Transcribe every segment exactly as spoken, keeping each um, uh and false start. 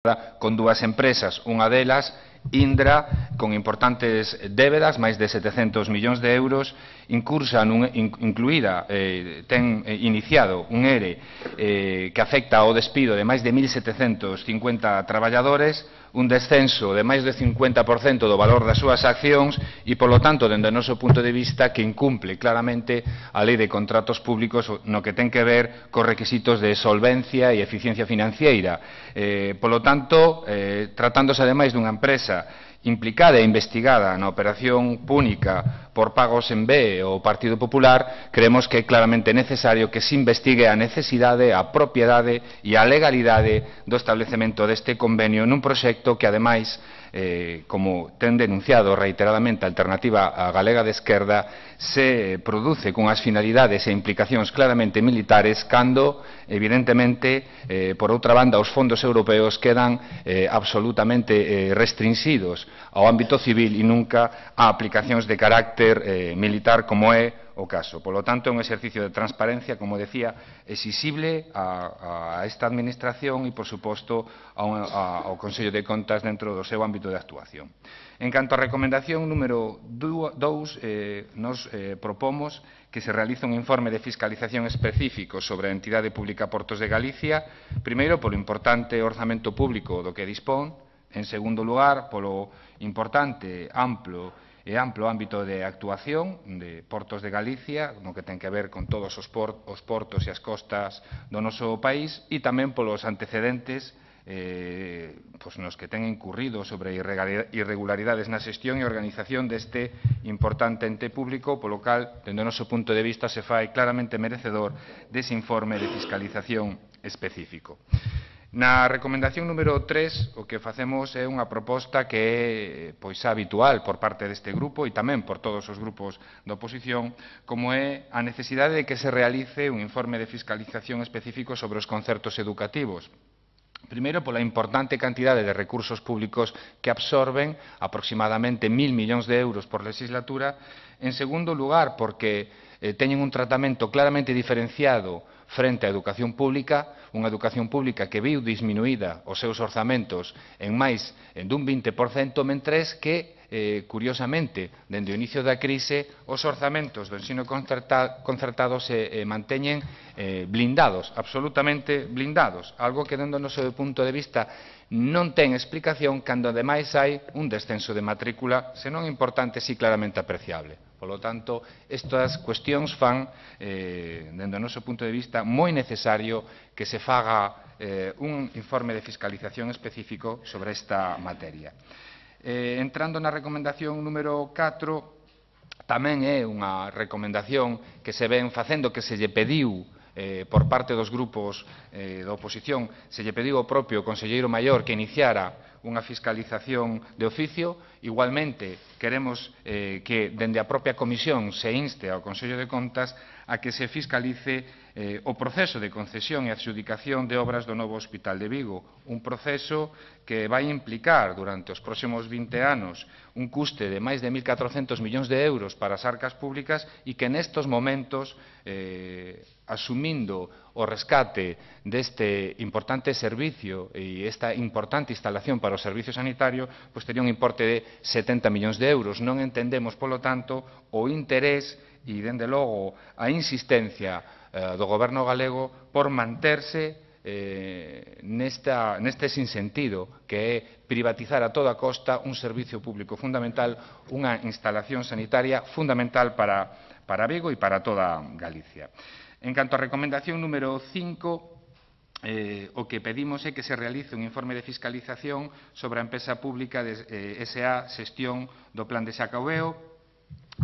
con dúas empresas, unha delas, Indra, con importantes débedas, máis de setecentos millóns de euros, incursa nun, in, incluída, eh, ten eh, iniciado un E R E eh, que afecta ao despido de máis de mil setecentos cincuenta traballadores, un descenso de máis de cincuenta por cento do valor das súas accións e, polo tanto, dende o noso punto de vista, que incumple claramente a Lei de Contratos Públicos no que ten que ver cos requisitos de solvencia e eficiencia financiera. Eh, polo tanto, eh, tratándose ademais dunha empresa implicada e investigada na operación púnica por pagos en B ao Partido Popular, creemos que é claramente necesario que se investigue a necesidade, a propiedade e a legalidade do establecemento deste convenio nun proxecto que, ademais, eh, como ten denunciado reiteradamente a Alternativa Galega de Esquerda, se produce cunhas finalidades e implicacións claramente militares cando, evidentemente, eh, por outra banda, os fondos europeos quedan eh, absolutamente eh, restringidos ao ámbito civil e nunca a aplicacións de carácter eh, militar como é o caso. Polo tanto, é un exercicio de transparencia, como decía, exixible a, a esta Administración e, por suposto, a un, a, ao Consello de Contas dentro do seu ámbito de actuación. En canto á recomendación número dous, eh, nos eh, propomos que se realice un informe de fiscalización específico sobre a entidade pública Portos de Galicia, primeiro, polo importante orzamento público do que dispón, en segundo lugar, polo importante, amplo e amplo ámbito de actuación de Portos de Galicia, no que ten que ver con todos os, por, os portos e as costas do noso país, e tamén polos antecedentes eh, pues nos que ten incurrido sobre irregularidades na xestión e organización deste importante ente público, polo cal, dende o noso punto de vista, se fai claramente merecedor dese informe de fiscalización específico. Na recomendación número tres, o que facemos é unha proposta que é pois habitual por parte deste grupo e tamén por todos os grupos da oposición, como é a necesidade de que se realice un informe de fiscalización específico sobre os concertos educativos. Primeiro, pola importante cantidade de recursos públicos que absorben, aproximadamente mil millóns de euros por legislatura. En segundo lugar, porque eh, teñen un tratamento claramente diferenciado frente á educación pública, unha educación pública que viu disminuída os seus orzamentos en máis dun vinte por cento, mentres que, eh, curiosamente, dende o inicio da crise, os orzamentos do ensino concerta, concertado se eh, manteñen eh, blindados, absolutamente blindados, algo que, dende o noso punto de vista, non ten explicación cando, ademais, hai un descenso de matrícula, senón importante, si claramente apreciable. Polo tanto, estas cuestións fan, eh, dende o noso punto de vista, moi necesario que se faga eh, un informe de fiscalización específico sobre esta materia. Eh, entrando na recomendación número catro, tamén é unha recomendación que se ven facendo, que se lle pediu eh, por parte dos grupos eh, da oposición, se lle pediu ao propio Conselleiro Maior que iniciara unha fiscalización de oficio. Igualmente, queremos eh, que, dende a propia Comisión, se inste ao Consello de Contas a que se fiscalice eh, o proceso de concesión e adxudicación de obras do novo Hospital de Vigo, un proceso que vai implicar durante os próximos vinte anos un custe de máis de mil catrocentos millóns de euros para as arcas públicas e que nestos momentos, eh, asumindo o rescate deste importante servicio e esta importante instalación para o servicio sanitario, pois tería un importe de setenta millóns de euros. Non entendemos, polo tanto, o interés e, dende logo, a insistencia eh, do Goberno galego por manterse eh, nesta, neste sinsentido, que é privatizar a toda costa un servicio público fundamental, unha instalación sanitaria fundamental para, para Vigo e para toda Galicia. En canto á recomendación número cinco, Eh, o que pedimos é que se realice un informe de fiscalización sobre a empresa pública de eh, S A Xestión do Plan de Xacobeo,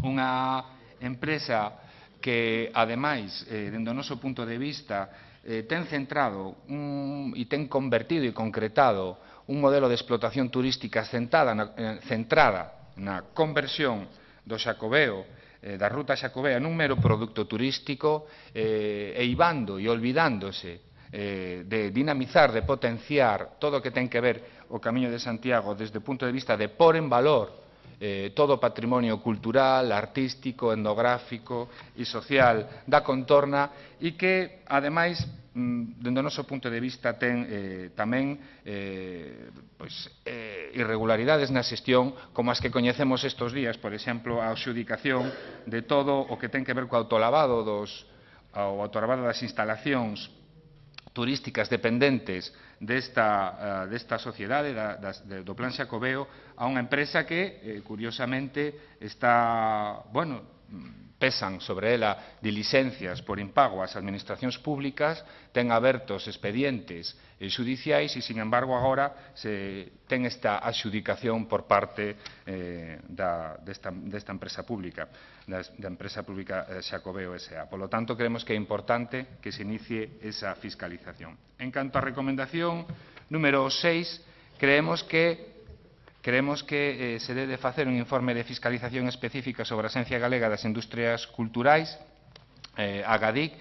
unha empresa que, ademais, eh, dende o noso punto de vista, eh, ten centrado un, e ten convertido e concretado un modelo de explotación turística centrada na, eh, centrada na conversión do Xacobeo, eh, da ruta Xacobea, nun mero produto turístico, eh, e ibando e olvidándose de dinamizar, de potenciar todo o que ten que ver o Camiño de Santiago desde o punto de vista de pôr en valor eh, todo o patrimonio cultural, artístico, etnográfico e social da contorna e que, ademais, dende o noso punto de vista, ten eh, tamén eh, pois, eh, irregularidades na xestión como as que coñecemos estes días, por exemplo, a adxudicación de todo o que ten que ver co autolavado dos, o autolavado das instalacións turísticas dependentes desta, uh, desta sociedade, da, das, de, do Plan Xacobeo, a unha empresa que, eh, curiosamente, está, bueno, pesan sobre ela dilixencias por impago ás administracións públicas, ten abertos expedientes xudiciais e, sin embargo, agora se ten esta adxudicación por parte eh, da, desta, desta empresa pública, da, da empresa pública eh, Xacobeo S A. Por lo tanto, creemos que é importante que se inicie esa fiscalización. En canto á recomendación número seis, creemos que Creemos que eh, se debe facer un informe de fiscalización específica sobre a Axencia Galega das Industrias Culturais, eh, a GADIC,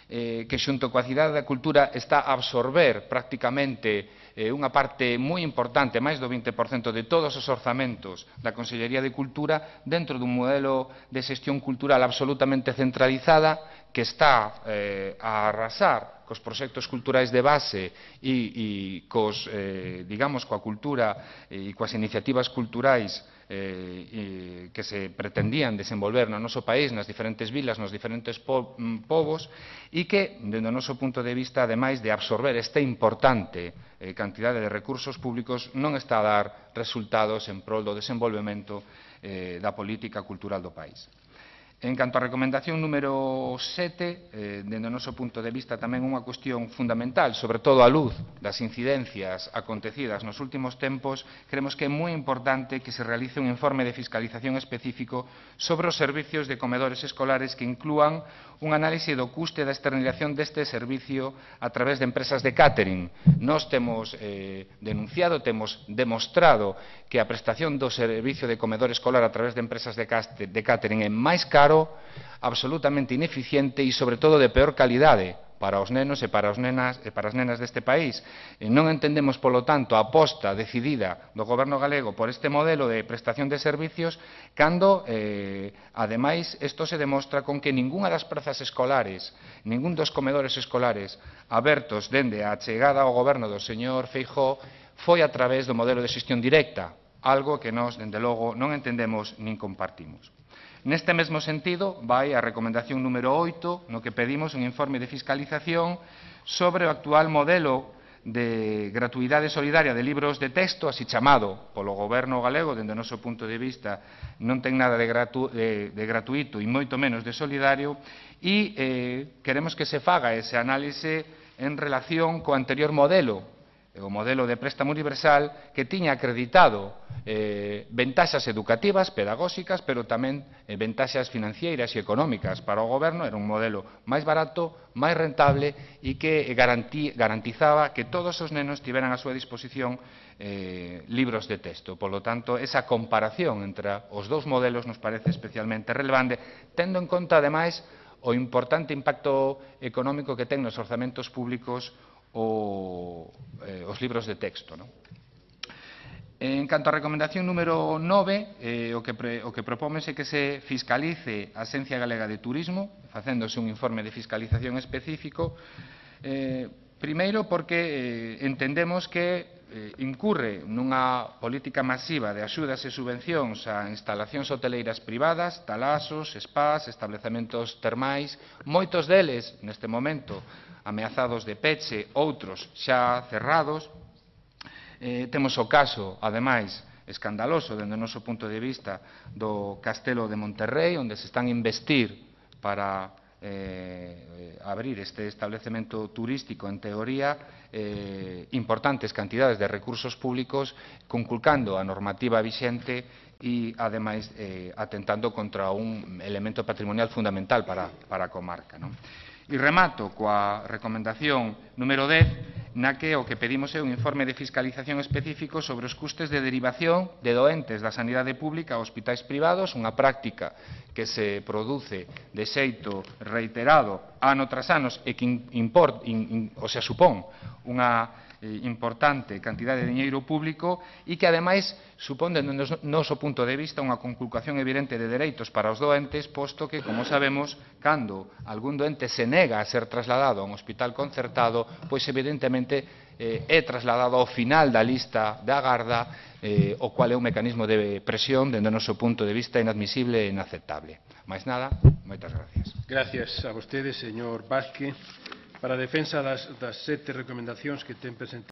eh, que xunto coa Cidade da Cultura está a absorber prácticamente eh, unha parte moi importante, máis do vinte por cento de todos os orzamentos da Consellería de Cultura dentro dun modelo de xestión cultural absolutamente centralizada que está eh, a arrasar cos proxectos culturais de base e, e cos, eh, digamos, coa cultura e coas iniciativas culturais eh, que se pretendían desenvolver no noso país, nas diferentes vilas, nos diferentes po povos, e que, dende o noso punto de vista, ademais de absorber esta importante eh, cantidade de recursos públicos, non está a dar resultados en prol do desenvolvemento eh, da política cultural do país. En canto á recomendación número sete, eh, dende o noso punto de vista tamén unha cuestión fundamental, sobre todo á luz das incidencias acontecidas nos últimos tempos, creemos que é moi importante que se realice un informe de fiscalización específico sobre os servicios de comedores escolares que inclúan un análise do custe da externalización deste servicio a través de empresas de catering. Nós temos eh, denunciado, temos demostrado que a prestación do servicio de comedor escolar a través de empresas de catering é máis caro, absolutamente ineficiente e, sobre todo, de peor calidade para os nenos e para, os nenas, e para as nenas deste país. E non entendemos, polo tanto, a aposta decidida do Goberno galego por este modelo de prestación de servicios cando, eh, ademais, isto se demostra con que ningunha das prazas escolares, ningún dos comedores escolares abertos dende a chegada ao Goberno do señor Feijóo foi a través do modelo de xestión directa, algo que nós, dende logo, non entendemos nin compartimos. Neste mesmo sentido, vai a recomendación número oito, no que pedimos un informe de fiscalización sobre o actual modelo de gratuidade solidaria de libros de texto, así chamado polo Goberno galego, dende o noso punto de vista, non ten nada de, gratu de, de gratuito e moito menos de solidario, e eh, queremos que se faga ese análise en relación co anterior modelo, o modelo de préstamo universal, que tiña acreditado eh, ventaxas educativas, pedagóxicas, pero tamén eh, ventaxas financeiras e económicas para o goberno. Era un modelo máis barato, máis rentable e que garantí, garantizaba que todos os nenos tiveran a súa disposición eh, libros de texto. Por lo tanto, esa comparación entre os dous modelos nos parece especialmente relevante, tendo en conta, ademais, o importante impacto económico que ten nos orzamentos públicos O, eh, os libros de texto. ¿No? En canto á recomendación número nove, eh, o, que pre, o que propómese que se fiscalice a Axencia Galega de Turismo, facéndose un informe de fiscalización específico, eh, primeiro porque eh, entendemos que eh, incurre nunha política masiva de axudas e subvencións a instalacións hoteleiras privadas, talasos, spas, establecementos termais, moitos deles, neste momento, ameazados de peche, outros xa cerrados. Eh, temos o caso, ademais, escandaloso, dende o noso punto de vista, do Castelo de Monterrey, onde se están a investir para eh, abrir este establecemento turístico, en teoría, eh, importantes cantidades de recursos públicos, conculcando a normativa vixente e, ademais, eh, atentando contra un elemento patrimonial fundamental para, para a comarca. ¿No? E remato coa recomendación número dez, na que o que pedimos é un informe de fiscalización específico sobre os custes de derivación de doentes da sanidade pública a hospitais privados, unha práctica que se produce de xeito reiterado ano tras anos e que import, in, in, o sea, supón unha eh, importante cantidade de diñeiro público e que, ademais, supón, dende o noso punto de vista, unha conculcación evidente de dereitos para os doentes, posto que, como sabemos, cando algún doente se nega a ser trasladado a un hospital concertado, pois, evidentemente, eh, é trasladado ao final da lista de agarda, eh, o cual é un mecanismo de presión, dende o noso punto de vista, inadmisible e inaceptable. Mais nada, moitas gracias. Gracias a vostede, señor Vázquez. Para a defensa das, das sete recomendacións que ten presentado